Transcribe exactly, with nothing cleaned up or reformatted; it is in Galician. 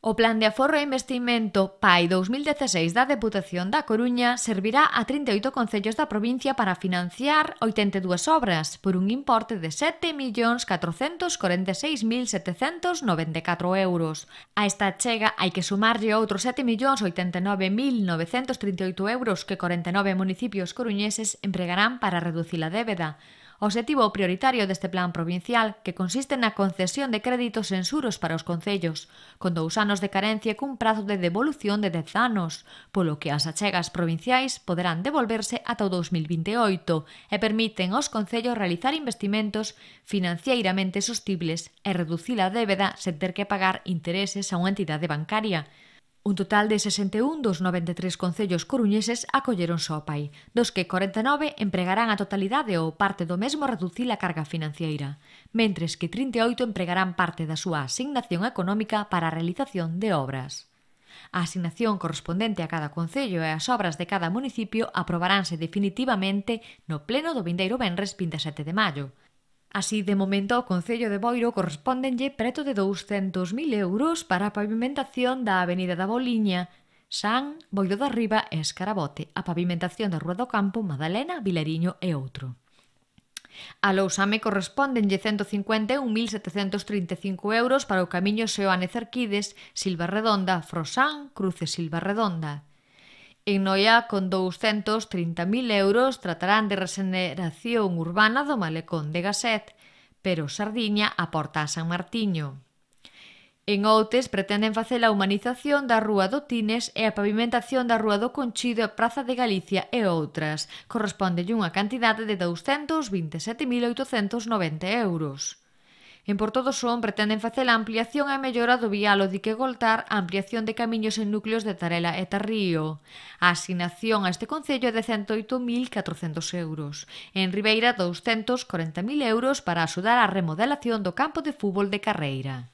O Plan de Aforro e Investimento P A I dous mil dezaseis da Deputación da Coruña servirá a trinta e oito concellos da provincia para financiar oitenta e dúas obras por un importe de sete millóns catrocentos corenta e seis mil setecentos noventa e catro euros. A esta achega hai que sumarlle outros sete millóns oitenta e nove mil novecentos trinta e oito euros que corenta e nove municipios coruñeses empregarán para reducir a débeda. O obxectivo prioritario deste plan provincial, que consiste na concesión de créditos en xuros para os concellos, con dous anos de carencia e cun prazo de devolución de dez anos, polo que as achegas provinciais poderán devolverse ata o dous mil vinte e oito e permiten aos concellos realizar investimentos financieiramente sostibles e reducir a débeda sen ter que pagar intereses a unha entidade bancaria. Un total de sesenta e un dos noventa e tres concellos coruñeses acolleronse ao P A I, dos que corenta e nove empregarán a totalidade ou parte do mesmo a reducir a carga financiera, mentres que trinta e oito empregarán parte da súa asignación económica para a realización de obras. A asignación correspondente a cada concello e as obras de cada municipio aprobaránse definitivamente no pleno do vindeiro venres vinte e sete de maio. Así, de momento, ao Concello de Boiro correspóndenlle preto de douscentos mil euros para a pavimentación da Avenida da Boliña, San, Boiro da Riba e Escarabote, a pavimentación da Rúa do Campo, Madalena, Vilariño e outro. A Lousame correspóndenlle cento cincuenta e un mil setecentos trinta e cinco euros para o camiño Seoane Cerquides, Silva Redonda, Frosán, Cruce Silva Redonda. En Noia, con douscentos trinta mil euros, tratarán de regeneración urbana do malecón de Gaset, pero Sardiña aporta a San Martiño. En Outes pretenden facer a humanización da Rúa do Tines e a pavimentación da Rúa do Conchido e Praza de Galicia e outras. Correspóndelle unha cantidade de douscentos vinte e sete mil oitocentos noventa euros. En Porto do Son pretenden facer a ampliación e mellora do vialo dique Goltar, a ampliación de camiños en núcleos de Tarela e Tarrío. A asignación a este concello é de cento oito mil catrocentos euros. En Ribeira, douscentos corenta mil euros para axudar á remodelación do campo de fútbol de Carreira.